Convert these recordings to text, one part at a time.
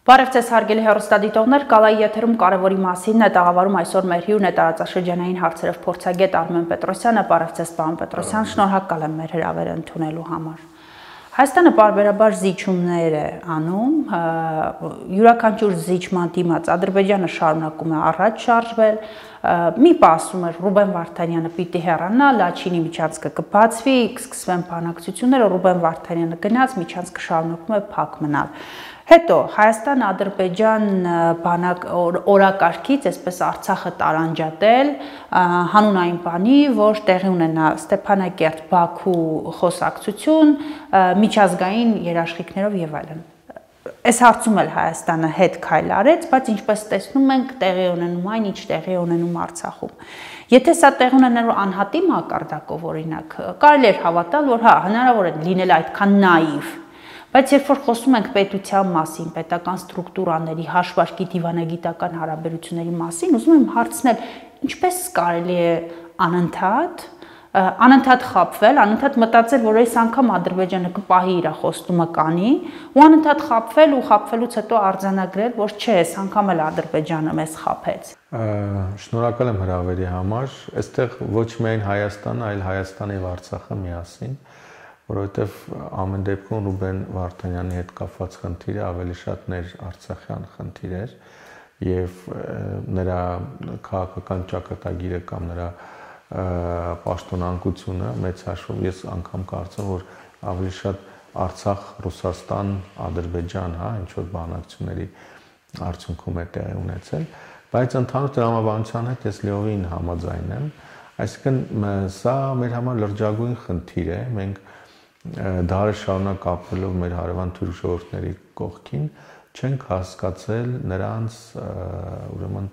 Բարև ձեզ հարգելի հեռուստադիտողներ, Կալայի եթերում կարևորի մասին է տաղավարում այսօր մեր հյուրն է տարածաշրջանային հարցերով փորձագետ Արմեն Պետրոսյանը։ Բարև ձեզ, պարոն Պետրոսյան, շնորհակալ եմ մեր հրավերը ընդունելու համար։ Հայաստանը պարբերաբար զիջումներ է անում, յուրաքանչյուր զիջման դիմաց Ադրբեջանը շարունակում է առաջ շարժվել, մի պահ ասում էր Ռուբեն Վարդանյանը պիտի հեռանա, Լաչինի միջանցքը կբացվի, կսկսվեն բանակցությունները, Ռուբեն Վարդանյանը գնաց, միջանցքը շարունակում է փակ մնալ։ Հետո Հայաստան-Ադրբեջան բանակ օրակարգից այսպես Արցախը տարանջատել հանուն այն բանի, որ տեղի ունենա Ստեփանակերտ-Բաքու խոսակցություն, միջազգային երաշխիքներով եւ այլն։ Այս հարցում էլ Հայաստանը հետ քայլ արեց, բայց ինչպես տեսնում ենք, տեղի ունենում այն, ինչ տեղի ունենում Արցախում։ Եթե սա տեղի ունենալու անհատի մակարդակով օրինակ, կարելի է հավատալ, որ հա հնարավոր է լինել այդքան նաիվ։ Բայց երբ որ խոսում ենք պետության մասին, պետական ստրուկտուրաների, հաշվարկի դիվանագիտական հարաբերությունների մասին, ուզում եմ հարցնել, ինչպես կարելի է անընդհատ խաբվել, անընդհատ մտածել, որ այս անգամ Ադրբեջանը կպահի իր խոստումը կանի, ու անընդհատ խաբվել ու խաբվելուց հետո արձանագրել, որ չէ, այս անգամ էլ Ադրբեջանը մեզ խաբեց։ Շնորհակալ եմ հրավերի համար, այստեղ ոչ միայն Հայաստանը, այլ Հայաստանը եւ Արցախը միասին, որովհետև ամեն դեպքում Ռուբեն Վարդանյանի հետ կապված խնդիրը ավելի շատ ներարցախյան խնդիր էր եւ նրա քաղաքական ճակատագիրը կամ նրա պաշտոնանկությունը մեծ հաշվով ես անգամ կարծում որ ավելի շատ Արցախ, Ռուսաստան, Ադրբեջան, հա, ինչ որ բանակցությունների արդյունքում է տեղի ունեցել, բայց ընդհանուր տրամաբանության հետ ես լիովին համաձայն եմ, այսինքն սա մեր համար լրջագույն խնդիր է, մենք դարը շարունակ ապրելով մեր հարևան թուրք ժողովուրդների կողքին չենք հասկացել նրանց ուրեմն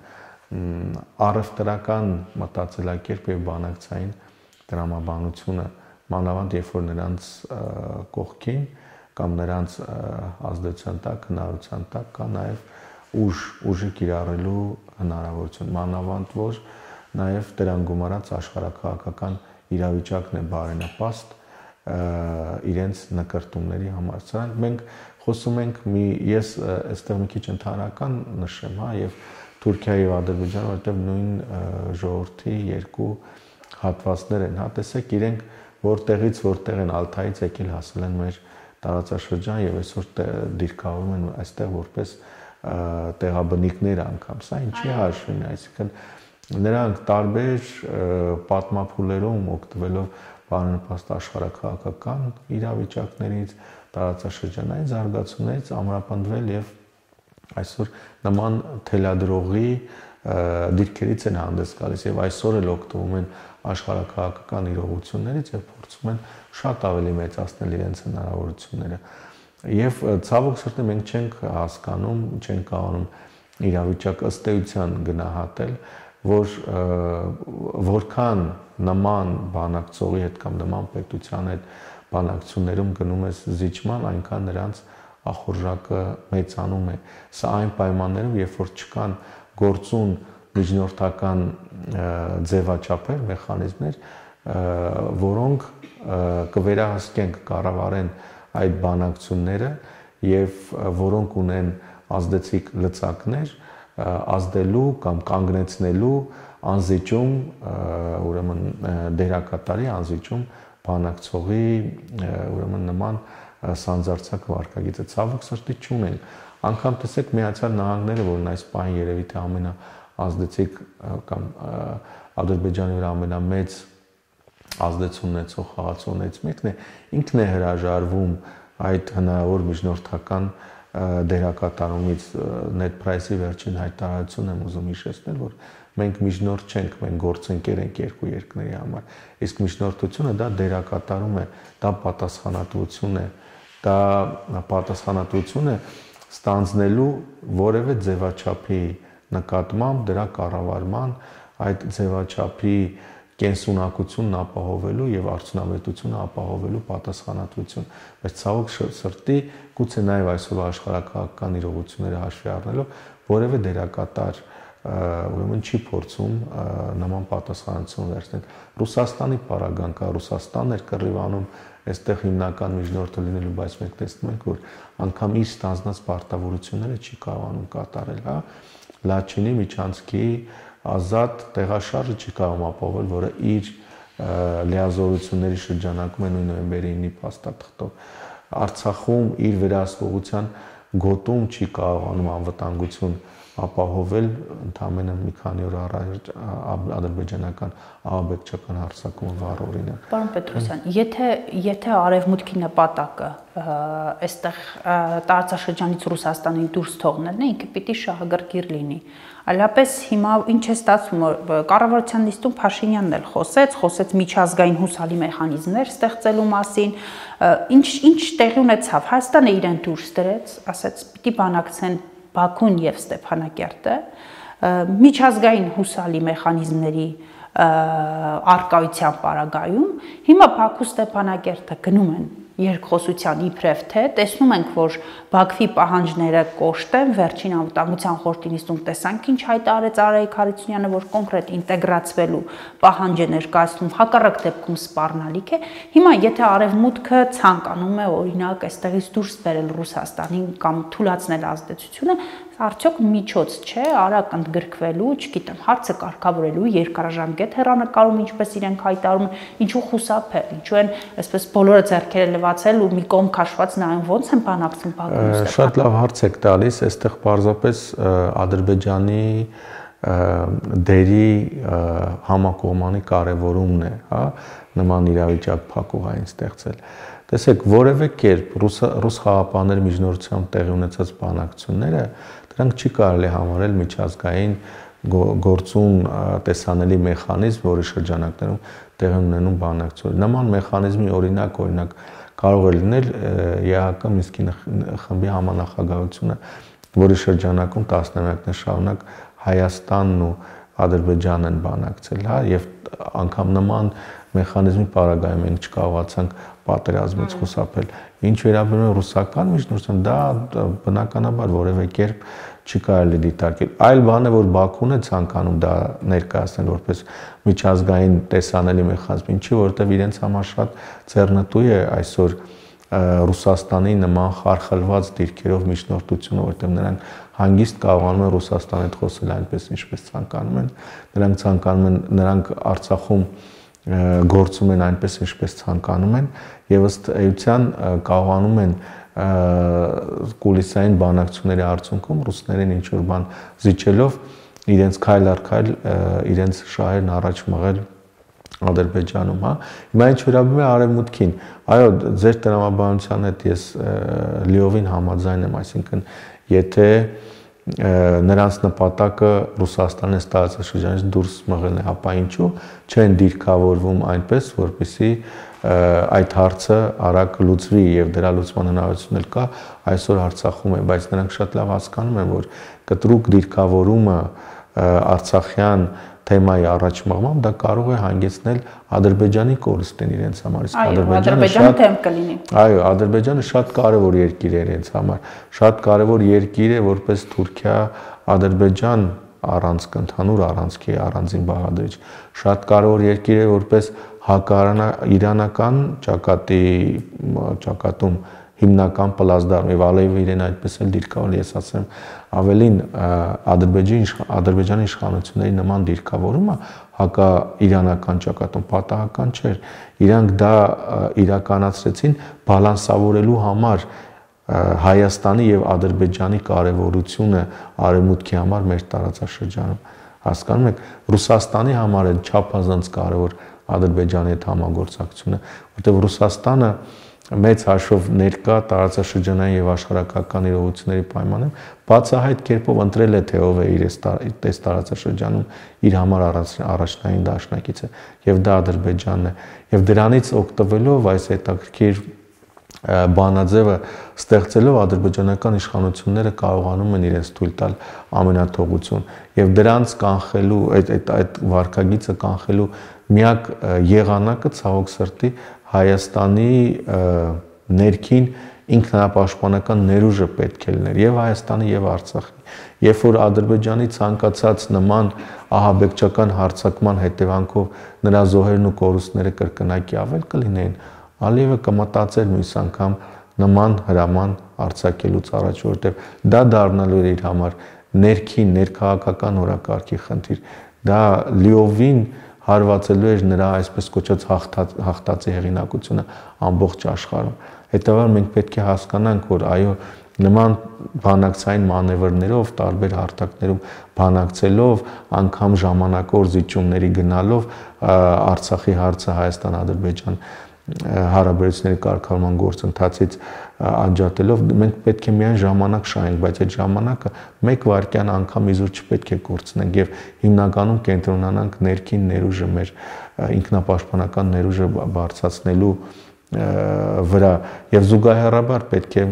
առևտրական մտածելակերպ եւ բանակցային տրամաբանությունը մանավանդ երբ որ նրանց կողքին կամ նրանց ազդեցության տակ, հնարավորության տակ կա նաեւ ուժը կիրառելու հնարավորություն մանավանդ որ նաեւ դրան գումարած աշխարհակաղակական իրավիճակն է բարենպաստ իրենց նկարտումների համար։ Սրանք մենք խոսում ենք ես այստեղ մի քիչ ընդհանրական նշեմ, հա, եւ Թուրքիայի եւ Ադրբեջանը, որտեղ նույն ժողովրդի երկու հատվածներ են, հա, տեսեք իրենք որտեղ են Ալթայից եկել հասել են մեր տարածաշրջան եւ այսօր դիրքավորում են այստեղ որպես տեղաբնիկներ անգամ։ Սա ինչի հաշվին է, այսինքն նրանք տարբեր պատմափուլերում օգտվելով բարենպաստ աշխարհակաղակական իրավիճակներից, տարածաշրջանային զարգացումներից ամրապնդվել եւ այսօր նման թելադրողի դիրքերից են հանդես գալիս եւ այսօր էլ օգտվում են աշխարհակաղակական իրողություններից եւ փորձում են շատ ավելի մեծացնել իրենց հնարավորությունները։ Եվ ցավոք սրտի մենք չենք հասկանում, չենք կարողանում իրավիճակը ըստ էության գնահատել, որ որքան նման բանակցողի հետ կամ նման պետության հետ բանակցություններում գնում ես զիջման, այնքան նրանց ախորժակը մեծանում է։ Սա այն պայմաններում, երբ որ չկան գործուն միջնորդական ձևաչափեր, մեխանիզմներ, որոնք կվերահսկեն, կկառավարեն այդ բանակցությունները եւ որոնք ունեն ազդեցիկ լծակներ ազդելու կամ կանգնեցնելու անզիջում ուրեմն դերակատարի անզիջում բանակցողի ուրեմն նման սանձարձակ վարկագիծը ցավոք սրտի չունեն անգամ տեսեք Միացյալ Նահանգները որն այս պահին երևի թե ամենաազդեցիկ կամ Ադրբեջանի վրա ամենամեծ ազդեցություն ունեցող խաղացողներից մեկն է ինքն է հրաժարվում այդ հնարավոր միջնորդական դերակատարումից net price-ի վերջին հայտարարությունն եմ ուզում հիշեցնել, որ մենք միջնորդ չենք, մենք գործընկեր ենք երկու երկրների համար։ Իսկ միջնորդությունը դա դերակատարում է, դա պատասխանատվություն է, դա պատասխանատվություն է ստանձնելու որևէ ձևաչափի նկատմամբ դրա կառավարման այդ ձևաչափի կենսունակությունն ապահովելու եւ արդյունավետությունը ապահովելու պատասխանատվություն, բայց ցավոք սրտի գուցե նաեւ այսօր աշխարհակաղակական իրողությունները հաշվի առնելով որևէ դերակատար ուրեմն չի փորձում նման պատասխանատվություն վերցնել։ Ռուսաստանի պարագան կա, Ռուսաստանն էր կռիվանում այստեղ հիմնական միջնորդը լինելու, բայց մենք տեսնում ենք, որ անգամ իր ստանձնած պարտավորությունները չի կարողանում կատարել, հա։ Լաչինի Միչանսկի ազատ տեղաշարժը չի կարող ապահովել, որը իր լիազորությունների շրջանակում է նույն նոյեմբերի 9-ի փաստաթղթով։ Արցախում իր վերահսկողության գոտում չի կարողանում անվտանգություն ապահովել, ընդամենը մի քանի օր առաջ ադրբեջանական ահաբեկչական հարձակումը վառ օրինակ։ Պարոն Պետրոսյան, եթե արևմուտքի նպատակը այստեղ տարածաշրջանից Ռուսաստանին դուրս թողնելն է, ինքը պիտի շահագրգիռ լինի։ Այլապես հիմա ինչ է ստացվում, կառավարության նիստում Փաշինյանն էլ խոսեց միջազգային հուսալի մեխանիզմներ ստեղծելու մասին, ինչ տեղի ունեցավ, Հայաստանը իրեն դուրս դրեց, ասաց պիտի բանակցեն Բաքուն եւ Ստեփանակերտը, միջազգային հուսալի մեխանիզմների արկայության պարագայում, հիմա Բաքու Ստեփանակերտը գնում են երկխոսության իբրև թե տեսնում ենք, որ Բաքվի պահանջները կոշտ են, վերջին անվտանգության խորհրդի նիստում տեսանք ինչ հայտարարեց Արայիկ Հարությունյանը, որ կոնկրետ ինտեգրացվելու պահանջ է ներկայացնում, հակառակ դեպքում սպառնալիք է։ Հիմա եթե արևմուտքը ցանկանում է օրինակ այստեղից դուրս բերել Ռուսաստանին կամ թուլացնել ազդեցությունը, արդյոք միջոց չէ արագ ընդգրկվելու, չգիտեմ, հարցը կարգավորելու երկարաժամկետ հեռանկարում, ինչպես իրենք հայտարարում են, ինչու խուսափել, ինչու են այսպես բոլորը ձեռքերը լվացել ու մի կողմ քաշված նայում ոնց են բանակցում Բաքվում։ Շատ լավ հարց եք տալիս, այստեղ պարզապես Ադրբեջանի դերի համակողմանի կարևորումն է, հա, նման իրավիճակ փակուղային ստեղծել։ Տեսեք, որևէ կերպ ռուս խաղապահների միջնորդությամբ տեղի ունեցած բանակցությունները դրանք չի կարելի համարել միջազգային գործուն տեսանելի մեխանիզմ, որի շրջանակներում տեղի ունենում բանակցություններ։ Նման մեխանիզմի օրինակ կարող է լինել ԵԱՀԿ Մինսկի խմբի համանախագահությունը, որի շրջանակում տասնամյակներ շարունակ Հայաստանն ու Ադրբեջանն են բանակցել, հա, եւ անգամ նման մեխանիզմի պարագայում մենք չկարողացանք պատերազմից խուսափել։ Ինչ վերաբերում է ռուսական միջնորդությանը, դա բնականաբար որևէ կերպ չի կարելի դիտարկել։ Այլ բան է, որ Բաքուն է ցանկանում դա ներկայացնել որպես միջազգային տեսանելի մեխանիզմ, ինչի որովհետև իրենց համար շատ ձեռնտու է այսօր Ռուսաստանի նման խարխլված դիրքերով միջնորդությունը, որովհետև նրանք հանգիստ կարողանում են Ռուսաստանի հետ խոսել այնպես, ինչպես ցանկանում են։ Նրանք ցանկանում են, նրանք Արցախում գործում են այնպես, ինչպես ցանկանում են, եւ ըստ էության կարողանում են կուլիսային բանակցությունների արդյունքում ռուսներին ինչ որ բան զիջելով իրենց քայլ առ քայլ իրենց շահերն առաջ մղել Ադրբեջանում, հա։ Հիմա ինչ վերաբերում է արևմուտքին, այո, ձեր տրամաբանության հետ ես լիովին համաձայն եմ, այսինքն եթե նրանց նպատակը Ռուսաստանի տարածաշրջանից դուրս մղելն է, ապա ինչու չեն դիրքավորվում այնպես, որպեսզի այդ հարցը արագ լուծվի եւ դրա լուծման հնարավորություն էլ կա այսօր Արցախում է, բայց նրանք շատ լավ հասկանում են, որ կտրուկ դիրքավորումը արցախյան թեմայի առաջ մղմամբ դա կարող է հանգեցնել Ադրբեջանի կորստին իրենց համար, իսկ Ադրբեջանը թեմ կլինի։ Այո, Ադրբեջանը շատ կարևոր երկիր է իրենց համար, շատ կարևոր երկիր է որպես Թուրքիա, Ադրբեջան առանցք, ընդհանուր առանցքի առանձին բաղադրիչ, շատ կարևոր երկիր է որպես հակաիրանական ճակատում հիմնական պլազդարմ եւ Ալիևը իրեն այդպես էլ դիրքավորել, ես ասեմ ավելին Ադրբեջանի իշխանությունների նման դիրքավորումը հակաիրանական ճակատում պատահական չէր, իրանք դա իրականացրեցին բալանսավորելու համար Հայաստանի եւ Ադրբեջանի կարեւորությունը արևմուտքի համար մեր տարածաշրջանում, հասկանում եք, Ռուսաստանի համար է չափազանց կարեւոր Ադրբեջանի հետ համագործակցությունը, որտեղ Ռուսաստանը մեծ հաշվով ներկա տարածաշրջանային եւ աշխարհակական իրողությունների պայմաններում բացահայտ կերպով ընտրել է թե ով է իր տարածաշրջանում իր համար առաջնային դաշնակիցը եւ դա Ադրբեջանն է եւ դրանից օգտվելով այս հետաքրքիր բանաձևը ստեղծելով ադրբեջանական իշխանությունները կարողանում են իրենց թույլ տալ ամենաթողություն եւ դրանց կանխելու այդ վարկագիծը կանխելու միակ եղանակը ցավոք սրտի Հայաստանի ներքին ինքնապաշտպանական ներուժը պետք է լիներ եւ Հայաստանի եւ Արցախի։ Երբ որ Ադրբեջանի ցանկացած նման ահաբեկչական հարձակման հետևանքով նրա զոհերն ու կորուստները կրկնակի ավել կլինեին, Ալիևը կմտածեր մյուս անգամ նման հրաման արձակելուց առաջ, որովհետեւ դա դառնալու էր իր համար ներքին ներքաղաքական օրակարգի խնդիր։ Դա լիովին հարվածելու էր նրա այսպես կոչած հաղթածի հեղինակությունը ամբողջ աշխարհում։ Հետևաբար մենք պետք է հասկանանք, որ այո, նման բանակցային մանևրներով, տարբեր հարթակներում բանակցելով, անգամ ժամանակավոր զիջումների գնալով Արցախի հարցը Հայաստան-Ադրբեջան հարաբերությունների կարգավորման գործընթացից անջատելով մենք պետք է միայն ժամանակ շահենք, բայց այդ ժամանակը 1 վայրկյան անգամ իզուր չպետք է կորցնենք եւ հիմնականում կենտրոնանանք ներքին ներուժը մեր ինքնապաշտպանական ներուժը բարձրացնելու վրա եւ զուգահեռաբար պետք է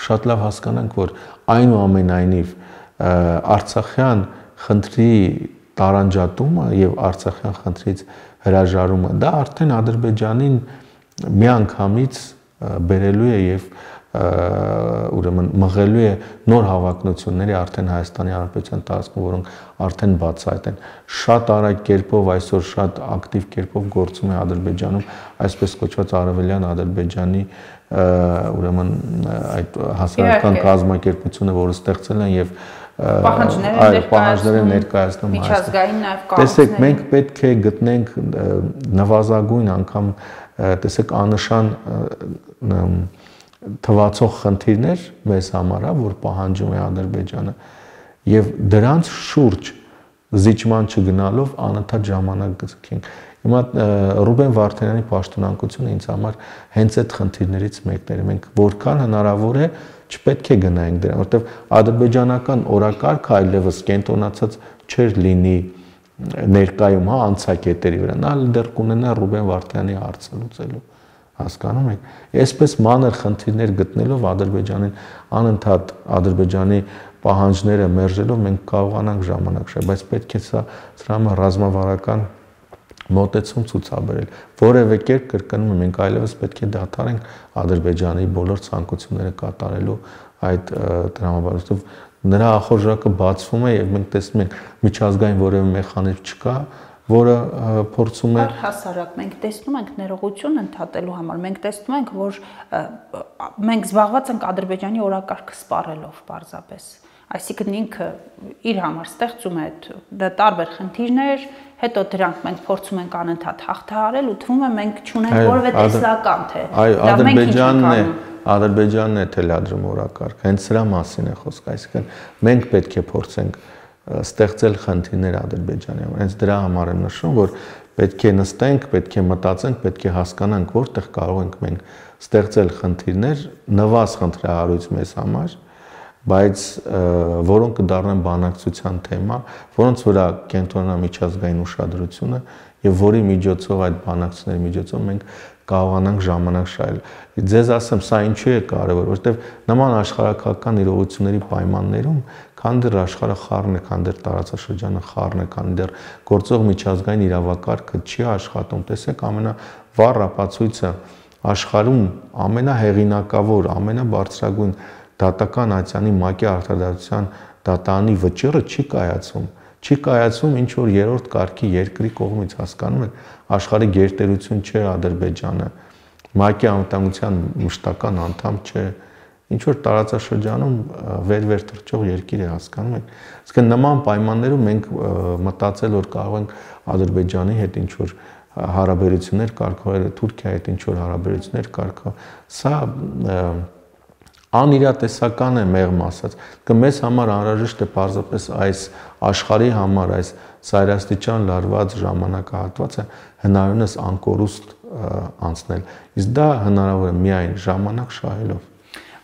շատ լավ հասկանանք, որ այնուամենայնիվ Արցախյան խնդրի տարանջատումը եւ Արցախյան խնդրից հրաժարումը դա արդեն Ադրբեջանին միանգամից բերելու է եւ ուրեմն մղելու է նոր հավակնությունների արդեն Հայաստանի Հանրապետության տարածքում, որոնք արդեն բացահայտ են։ Շատ արագ կերպով այսօր շատ ակտիվ կերպով գործում է Ադրբեջանում այսպես կոչված Արևելյան Ադրբեջանի ուրեմն այդ հասարակական կազմակերպությունը, որը ստեղծել են եւ պահանջները ներկայացնում միջազգային նաև կառույցներ։ Տեսեք, մենք պետք է գտնենք նվազագույն անգամ, տեսեք, աննշան թվացող խնդիրներ մեզ համար, որ պահանջում է Ադրբեջանը եւ դրանց շուրջ զիջման չգնալով անընդհատ ժամանակ գցենք։ Հիմա Ռուբեն Վարդանյանի պաշտոնանկությունը ինձ համար հենց այդ խնդիրներից մեկն էր։ Մենք որքան հնարավոր է չպետք է գնայինք դրան, որովհետև ադրբեջանական օրակարգը այլևս կենտրոնացած չէր լինի ներկայում, անցակետերի վրա։ Նա դեռ կունենա Ռուբեն Վարդանյանի հարցը լուծելու, հասկանում եք։ Այսպես մանր խնդիրներ գտնելով Ադրբեջանին անընդհատ Ադրբեջանի պահանջները մերժելով մենք կարողանանք ժամանակ շահել, բայց պետք է սրա համար ռազմավարական մոտեցում ցուցաբերել։ Որևէ կերպ կրկնում եմ, մենք այլևս պետք է դադարենք Ադրբեջանի բոլոր ցանկությունները կատարելու այդ տրամաբանությամբ նրա ախորժակը բացվում է եւ մենք տեսնում ենք միջազգային որևէ մեխանիզմ չկա, որը փորձում է հասարակ մենք տեսնում ենք ներողություն ընդհատելու համար, մենք տեսնում ենք, որ մենք զբաղված ենք Ադրբեջանի օրակարգը սպառելով պարզապես։ Այսինքն ինքը իր համար ստեղծում է տարբեր խնդիրներ, հետո դրանք մենք փորձում ենք անընդհատ հաղթահարել ու թվում է մենք չունենք որևէ տեսլական թե Ադրբեջանն է թելադրում օրակարգ, հենց սրա մասին է խոսքը, այսինքն մենք պետք է փորձենք ստեղծել խնդիրներ Ադրբեջանի համար, հենց դրա համար եմ նշում, որ պետք է նստենք, պետք է մտածենք, պետք է հասկանանք, որտեղ կարող ենք մենք ստեղծել խնդիրներ, նվազ խնդրահարույց մեզ համար, բայց որոնք կդառնան բանակցության թեմա, որոնց վրա կենտրոնանա միջազգային ուշադրությունը եւ որի միջոցով այդ բանակցությունների միջոցով մենք կարողանանք ժամանակ շահել։ Ձեզ ասեմ, սա ինչու է կարևոր, որովհետեւ նման աշխարհակական իրողությունների պայմաններում, քան դեռ աշխարհը խառն է, քան դեռ տարածաշրջանը խառն է, քան դեռ գործող միջազգային իրավակարգը չի աշխատում, տեսեք, ամենավառ ապացույցը աշխարհում ամենահեղինակավոր, ամենաբարձրագույն դատական ատյանի ՄԱԿ-ի արտադրության դատանի վճիռը չի կայացում ինչ որ երրորդ կարգի երկրի կողմից, հասկանում եք, աշխարհի գերտերություն չէ Ադրբեջանը, ՄԱԿ-ի անվտանգության մշտական անդամ չէ, ինչ որ տարածաշրջանում վեր թռչող երկիր է, հասկանում եք։ Իսկ նման պայմաններում մենք մտածել որ կարող ենք Ադրբեջանի հետ ինչ որ հարաբերություններ կարգավորել, Թուրքիայի հետ ինչ որ հարաբերություններ կարգավորել, սա անիրատեսական է մեղմ ասած, մեզ համար անհրաժեշտ է պարզապես այս աշխարհի համար այս սայրաստիճան լարված ժամանակահատվածը հնարավորինս անկորուստ անցնել, իսկ դա հնարավոր է միայն ժամանակ շահելով։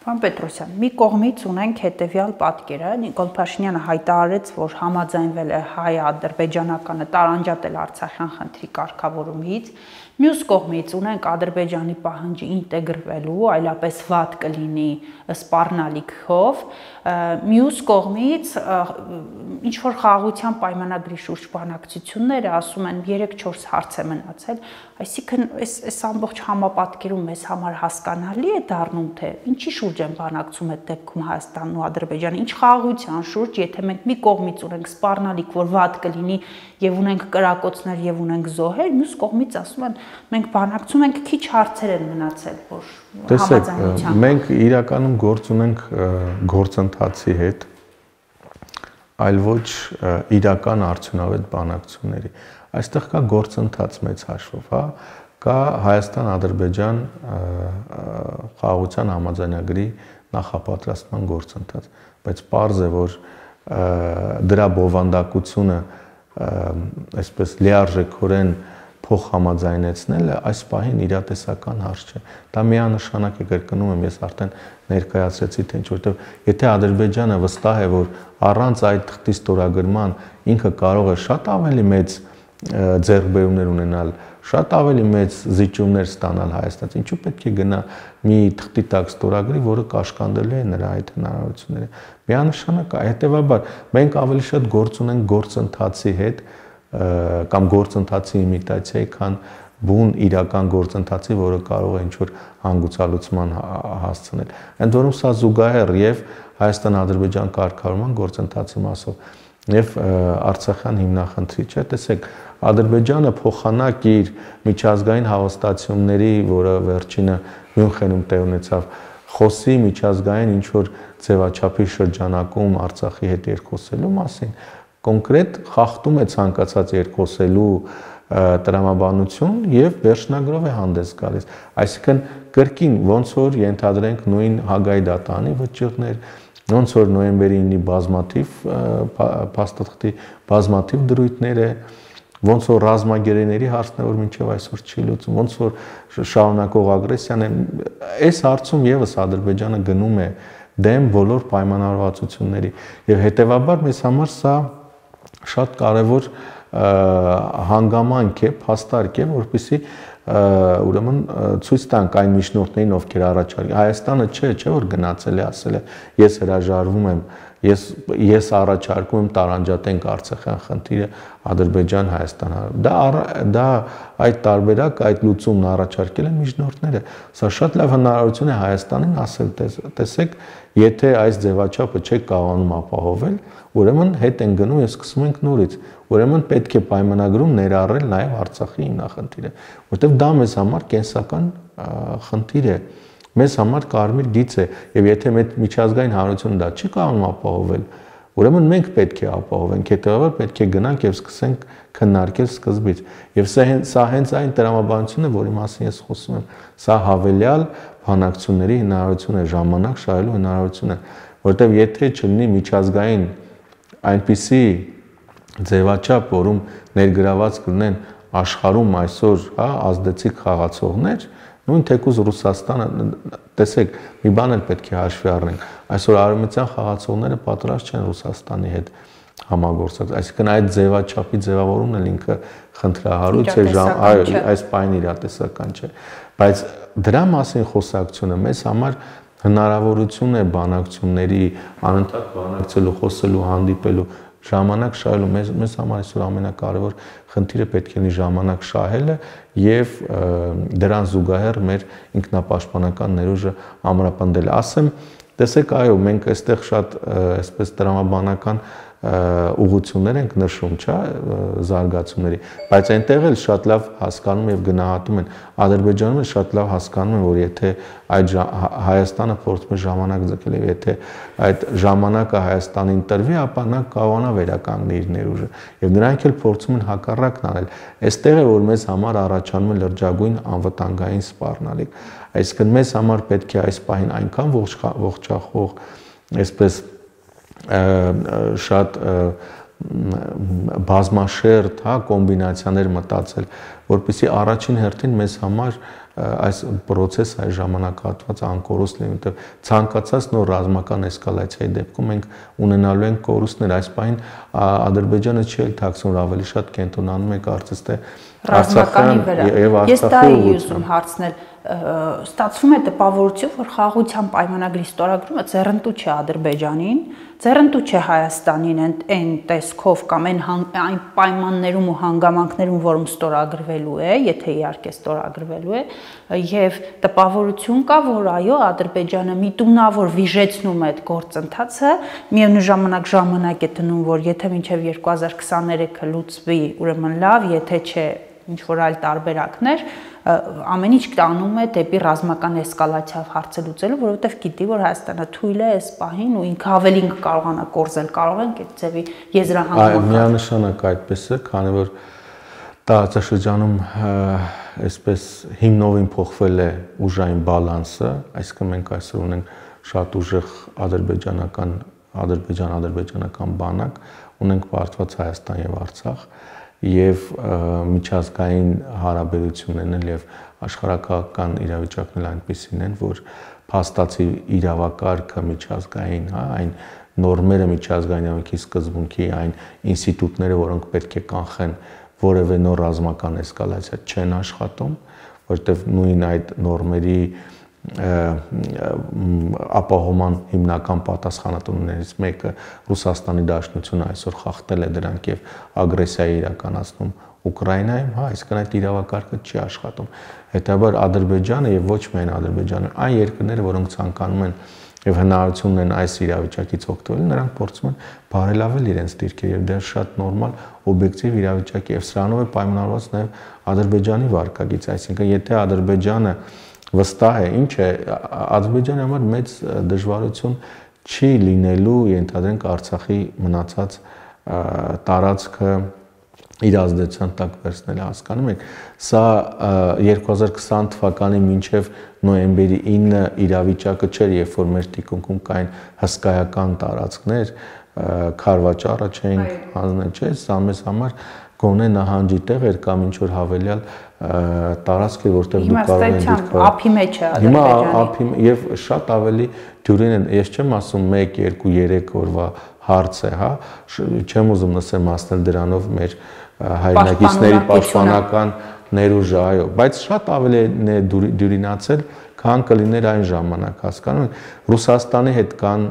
Պարոն Պետրոսյան, մի կողմից ունենք հետևյալ պատկերը, Նիկոլ Փաշինյանը հայտարարեց, որ համաձայնվել է հայ-ադրբեջանականը տարանջատել Արցախյան խնդրի կարգավորումից, մյուս կողմից ունենք Ադրբեջանի պահանջը ինտեգրվելու, այլապես վատ կլինի սպառնալիքով, մյուս կողմից ինչ որ խաղաղության պայմանագրի շուրջ բանակցությունները ասում են 3-4 հարց է մնացել, այսինքն այս ամբողջ համապատկերում մեզ համար հասկանալի է դառնում, թե ինչի շուրջ են բանակցում այդ դեպքում Հայաստանն ու Ադրբեջանը, ինչ խաղաղության շուրջ, եթե մենք մի կողմից ունենք սպառնալիք, որ վատ կլինի եւ ունենք կրակոցներ եւ ունենք զոհեր, մյուս կողմից ասում են մենք բանակցում ենք, քիչ հարցեր են մնացել, որ համաձայնության։ Մենք իրականում գործ ունենք գործընթացի հետ, այլ ոչ իրական արդյունավետ բանակցությունների։ Այստեղ կա գործընթաց մեծ հաշվով, հա, կա Հայաստան-Ադրբեջան խաղաղության համաձայնագրի նախապատրաստման գործընթաց, բայց պարզ է, որ դրա բովանդակությունը այսպես լիարժեքորեն փոխհամաձայնեցնելը այս պահին իրատեսական հարց չէ։ Դա միանշանակ է, կրկնում եմ, ես արդեն ներկայացրեցի, թե ինչ, որտեղ եթե Ադրբեջանը վստահ է, որ առանց այդ թղթի ստորագրման ինքը կարող է շատ ավելի մեծ ձեռքբերումներ ունենալ, շատ ավելի մեծ զիջումներ ստանալ Հայաստանից, ինչու պետք է գնա մի թղթի տակ ստորագրի, որը կաշկանդելու է նրա այդ հնարավորությունները։ Միանշանակ, հետևաբար մենք ավելի շատ գործ ունենք գործընթացի հետ կամ գործընթացի իմիտացիայի, քան բուն իրական գործընթացի, որը կարող է ինչ-որ հանգուցալուծման հասցնել։ Ընդ որում սա զուգահեռ եւ Հայաստան-Ադրբեջան կարգավորման գործընթացի մասով եւ Արցախյան հիմնախնդրի չէ, տեսեք, Ադրբեջանը փոխանակ իր միջազգային հավաստացումների, որը վերջինը Մյունխենում տեղ ունեցավ, խոսի միջազգային ինչ որ ձևաչափի շրջանակում Արցախի հետ երկխոսելու մասին, կոնկրետ խախտում է ցանկացած երկխոսելու տրամաբանություն եւ վերջնագրով է հանդես գալիս։ Այսինքն կրկին ոնց որ ենթադրենք նույն Հագայի դատանի վճիռներ, ոնց որ նոյեմբերի 9-ի բազմաթիվ փաստաթղթի բազմաթիվ դրույթներ է, ոնց որ ռազմագերիների հարցն է, որ մինչև այսօր չի լուծում, ոնց որ շարունակող ագրեսիան է, այս հարցում եւս Ադրբեջանը գնում է դեմ բոլոր պայմանավորվածությունների եւ հետեւաբար մեզ համար սա շատ կարևոր հանգամանք է, փաստարկ է, որպեսզի ուրեմն ցույց տանք այն միջնորդներին, ովքեր առաջարկել Հայաստանը չէ, որ գնացել է, ասել է ես հրաժարվում եմ, ես առաջարկում եմ տարանջատենք Արցախյան խնդիրը Ադրբեջան-Հայաստան։ Դա այդ տարբերակ, այդ լուծումն առաջարկել են միջնորդները։ Սա շատ լավ հնարավորություն է Հայաստանին ասել, տեսեք, եթե այս ձևաչափը չեք կարողանում ապահովել, ուրեմն հետ են գնում եւ սկսում ենք նորից։ Ուրեմն պետք է պայմանագրում ներառել նաեւ Արցախի հիմնախնդիրը, որտեղ դա մեզ համար կենսական խնդիր է, մեզ համար կարմիր գիծ է, եւ եթե մեր միջազգային հանրությունը դա չի կարողանում ապահովել, ուրեմն մենք պետք է ապահովենք, հետեւաբար պետք է գնանք եւ սկսենք քննարկել սկզբից։ Եվ սա հենց այն տրամաբանությունն է, որի մասին ես խոսում եմ, սա հավելյալ բանակցությունների հնարավորություն է, ժամանակ շահելու հնարավորություն է, որտեղ եթե չլինի միջազգային այնպիսի ձևաչափ, որում ներգրաված կլինեն աշխարհում այսօր, հա, ազդեցիկ խաղացողներ, նույն թեկուզ Ռուսաստանը, տեսեք, մի բան էլ պետք է հաշվի առնենք, այսօր արևմտյան խաղացողները պատրաստ չեն Ռուսաստանի հետ համագործակցել, այսինքն այդ ձևաչափի ձևավորումն էլ ինքը խնդրահարույց է, այս պայն իրատեսական չէ, բայց դրա մասին խոսակցությունը մեզ համար հնարավորություն է բանակցությունների, անընդհատ բանակցելու, խոսելու, հանդիպելու, ժամանակ շահելու, մեզ համար այսօր ամենակարևոր խնդիրը պետք է լինի ժամանակ շահելը եւ դրան զուգահեռ մեր ինքնապաշտպանական ներուժը ամրապնդելը։ Ասեմ, տեսեք, այո, մենք այստեղ շատ այսպես տրամաբանական ուղղություններ ենք նշում, չէ, զարգացումների, բայց այնտեղ էլ շատ լավ հասկանում եւ գնահատում են, Ադրբեջանում էլ շատ լավ հասկանում են, որ եթե այդ Հայաստանը փորձում է ժամանակ ձգել եւ եթե այդ ժամանակը Հայաստանին տրվի, ապա նա կարողանա վերականգնել իր ներուժը եւ նրանք էլ փորձում են հակառակն անել։ Այստեղ է, որ մեզ համար առաջանում է լրջագույն անվտանգային սպառնալիք։ Այսինքն մեզ համար պետք է այս պահին այնքան ողջախոհ, այսպես շատ բազմաշերտ, հա, կոմբինացիաներ մտածել, որպեսզի առաջին հերթին մեզ համար այս process-ը այս ժամանակահատվածը անկորուստ լինի, որտեղ ցանկացած նոր ռազմական էսկալացիայի դեպքում մենք ունենալու ենք կորուստներ։ Այս պահին Ադրբեջանը չի էլ թաքցնում, ավելի շատ կենտրոնանում է կարծես թե ռազմականի վրա։ Եվ Ես դա Արցախի էի ուզում հարցնել, ստացվում է տպավորություն, որ խաղաղության պայմանագրի ստորագրումը ձեռնտու չէ Ադրբեջանին, ձեռնտու չէ Հայաստանին այն տեսքով կամ այն պայմաններում ու հանգամանքներում, որում ստորագրվելու է, եթե իհարկե ստորագրվելու է, եւ տպավորություն կա, որ այո, Ադրբեջանը միտումնավոր վիժեցնում է այդ գործընթացը, միևնույն ժամանակ է դնում, որ եթե մինչեւ 2023-ը լուծվի, ուրեմն լավ, եթե չէ ինչ որ այլ տարբերակներ, ամեն ինչ տանում է դեպի ռազմական էսկալացիա հարցը լուծելու, որովհետև գիտի, որ Հայաստանը թույլ է այս պահին ու ինքը ավելին կարողանա կորզել, կարող են այդ ձևի եզրահանգում։ Միանշանակ այդպես է, քանի որ տարածաշրջանում այսպես հիմնովին փոխվել է ուժային բալանսը, այսինքն մենք այսօր ունենք շատ ուժեղ ադրբեջանական բանակ, ունենք պարտված Հայաստան եւ Արցախ եւ միջազգային հարաբերություններն էլ եւ աշխարհակաղակական իրավիճակն էլ այնպիսին են, որ փաստացի իրավակարգը միջազգային, այն նորմերը միջազգային իրավունքի սկզբունքի, այն ինստիտուտները, որոնք պետք է կանխեն որևէ նոր ռազմական էսկալացիա չեն աշխատում, որովհետեւ նույն այդ նորմերի ապահովման հիմնական պատասխանատուներից մեկը Ռուսաստանի Դաշնությունը այսօր խախտել է դրանք եւ ագրեսիա է իրականացնում Ուկրաինայում, այսինքն այդ իրավակարգը չի աշխատում։ Հետաբար Ադրբեջանը եւ ոչ միայն Ադրբեջանը, այն երկրները, որոնք ցանկանում են եւ հնարավորություն ունեն այս իրավիճակից օգտվել, նրանք փորձում են բարելավել իրենց դիրքը եւ դա շատ նորմալ օբյեկտիվ իրավիճակ է եւ սրանով է պայմանավորված նաեւ Ադրբեջանի վարկագիծ, այսինքն եթե Ադրբեջանը վստահ է, ինչ է, Ադրբեջանի համար մեծ դժվարություն չի լինելու, ենթադրենք Արցախի մնացած տարածքը իր ազդեցության տակ վերցնել, հասկանում եք, սա 2020 թվականի մինչև նոյեմբերի 9 իրավիճակը չէր, երբ որ մեր թիկունքում կային հսկայական տարածքներ, քարվաճառը չէին հանձնել, չէ, սա մեզ համար գոնե նահանջի տեղ էր կամ ինչ որ հավելյալ տարածք էր, որտեղ դու կարող ես դիտել ափի մեջ է Ադրբեջանի։ Հիմա ափի եւ շատ ավելի դյուրին են, ես չեմ ասում 1, 2, 3 օրվա հարց է, հա, չեմ ուզում նստել մասնել դրանով մեր հայրենակիցների պաշտպանական ներուժը, այո, բայց շատ ավելի է դյուրինացել, քան կլիներ այն ժամանակ, հասկանում եք, Ռուսաստանի հետ կան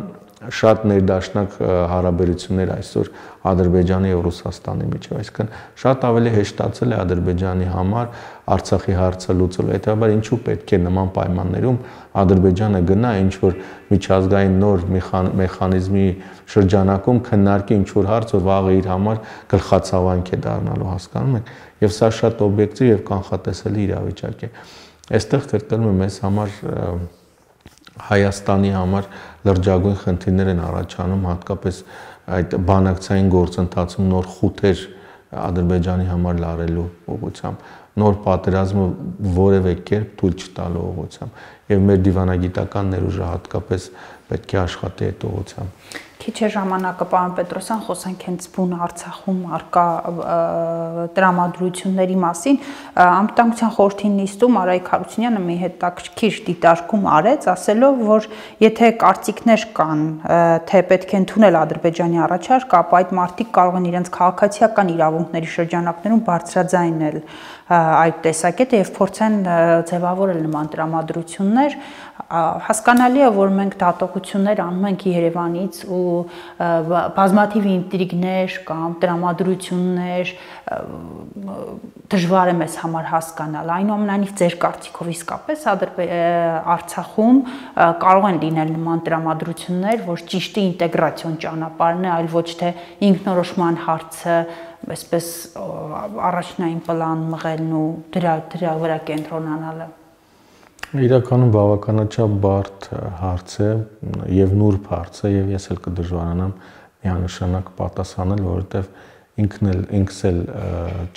շատ ներդաշնակ հարաբերություններ այսօր Ադրբեջանի եւ Ռուսաստանի միջեւ, այսինքն շատ ավելի հեշտացել է Ադրբեջանի համար Արցախի հարցը լուծել։ Հետաբար ինչու պետք է նման պայմաններում Ադրբեջանը գնա ինչ որ միջազգային նոր մեխանիզմի շրջանակում քննարկի ինչ որ հարց, որ վաղը իր համար գլխացավանք է դառնալու, հասկանում եք, եւ սա շատ օբյեկտիվ եւ կանխատեսելի իրավիճակ է։ Այստեղ կրկնում եմ, մեզ համար Հայաստանի համար լրջագույն խնդիրներ են առաջանում, հատկապես այդ բանակցային գործընթացում նոր խութեր Ադրբեջանի համար լարելու ուղղությամբ, նոր պատերազմը որևէ կերպ թույլ չտալու ուղղությամբ եւ մեր դիվանագիտական ներուժը հատկապես պետք է աշխատի այդ ուղղությամբ։ Քիչ է ժամանակը, պարոն Պետրոսյան, խոսենք հենց բուն Արցախում արկա տրամադրությունների մասին։ Անվտանգության խորհրդի նիստում Արայիկ Հարությունյանը մի հետաքրքիր դիտարկում արեց, ասելով, որ եթե կարծիքներ կան, թե պետք է ընդունել Ադրբեջանի առաջարկ, ապա այդ մարդիկ կարող են իրենց քաղաքացիական իրավունքների շրջանակներում բարձրաձայնել այդ տեսակետը եւ փորձեն ձևավորել նման տրամադրություններ։ Հասկանալի է, որ մենք դատողություններ անում ենք Երևանից ու բազմաթիվ ինտրիգներ կամ տրամադրություններ դժվար է մեզ համար հասկանալ։ Այնուամենայնիվ ձեր կարծիքով իսկապես Արցախում կարող են լինել նման տրամադրություններ, որ ճիշտի ինտեգրացիոն ճանապարհն է, այլ ոչ թե ինքնորոշման հարցը այսպես առաջնային պլան մղելն ու դրա վրա կենտրոնանալը։ Իրականում բավականաչափ բարդ հարց է եւ նուրբ հարց է եւ ես էլ կդժվարանամ միանշանակ պատասխանել, որովհետեւ ինքս էլ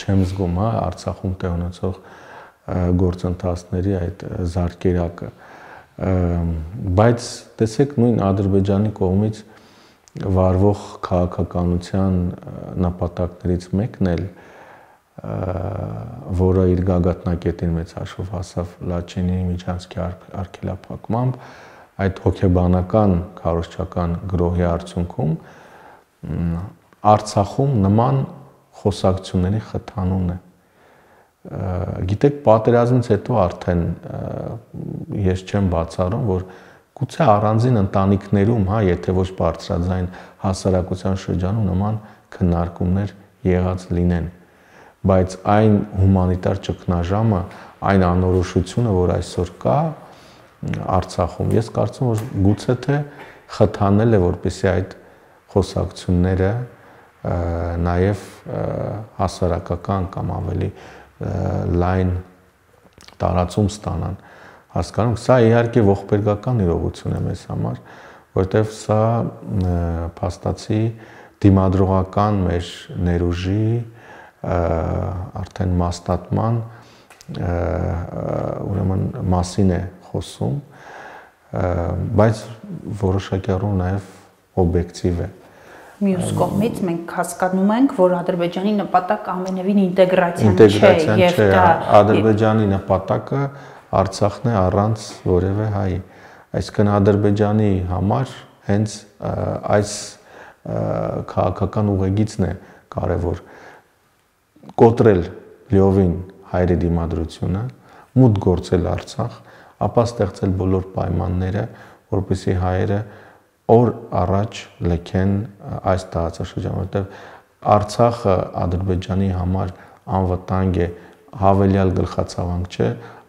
չեմ զգում, հա, Արցախում տեղ ունեցող գործընթացների այդ զարկերակը, բայց տեսեք նույն Ադրբեջանի կողմից վարվող քաղաքականության նպատակներից մեկն էլ որը իր գագաթնակետին մեծ հաշվով հասավ Լաչինի միջանցքի արգելափակմամբ, այդ հոգեբանական քարոզչական գրոհի արդյունքում Արցախում նման խոսակցությունների խթանումն է։ Գիտեք, պատերազմից հետո արդեն ես չեմ բացառում, որ գուցե առանձին ընտանիքներում, եթե ոչ բարձրաձայն հասարակության շրջանում նման քննարկումներ եղած լինեն, բայց այն հումանիտար ճգնաժամը, այն անորոշությունը, որ այսօր կա Արցախում, ես կարծում որ գուցե թե խթանել է, որպեսզի այդ խոսակցությունները նաև հասարակական կամ ավելի լայն տարածում ստանան, հասկանում, սա իհարկե ողբերգական իրողություն է մեզ համար, որտեղ սա փաստացի դիմադրողական մեր ներուժի արդեն մաստատման ուրեմն մասին է խոսում, բայց որոշակի առումով նաև օբյեկտիվ է։ Մյուս կողմից մենք հասկանում ենք, որ Ադրբեջանի նպատակը ամենևին ինտեգրացիան չէ, եւ դա Ադրբեջանի նպատակը Արցախն է առանց որևէ հայի։ Այսինքն Ադրբեջանի համար հենց այս քաղաքական ուղեգիծն է կարևոր կոտրել լիովին հայերի դիմադրությունը, մուտք գործել Արցախ, ապա ստեղծել բոլոր պայմանները, որպեսզի հայերը օր առաջ լքեն այս տարածաշրջանը, որտեղ Արցախը Ադրբեջանի համար անվտանգ է, հավելյալ գլխացավանք չէ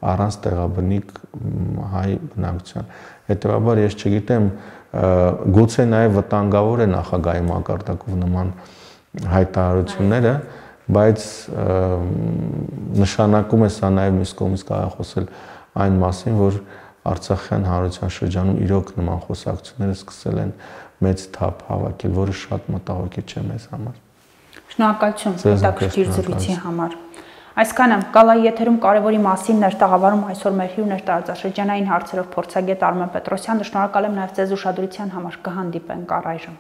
առանց տեղաբնիկ հայ բնակության։ Հետևաբար ես չգիտեմ, գուցե նաև վտանգավոր է նախագահի մակարդակով նման հայտարարությունները, բայց նշանակում է սա նաև մյուս կողմից կարող խոսել այն մասին, որ Արցախյան հանրության շրջանում իրոք նման խոսակցությունները սկսել են մեծ թափ հավաքել, որը շատ մտահոգիչ չէ մեզ համար։ Շնորհակալություն հետաքրքիր զրույցի համար։ Այսքանը Կալայի եթերում կարևորի մասին էր տաղավարում այսօր մեր հյուրն էր տարածաշրջանային հարցերով փորձագետ Արմեն Պետրոսյանը։ Շնորհակալ եմ նաև ձեզ ուշադրության համար, կհանդիպենք առայժմ։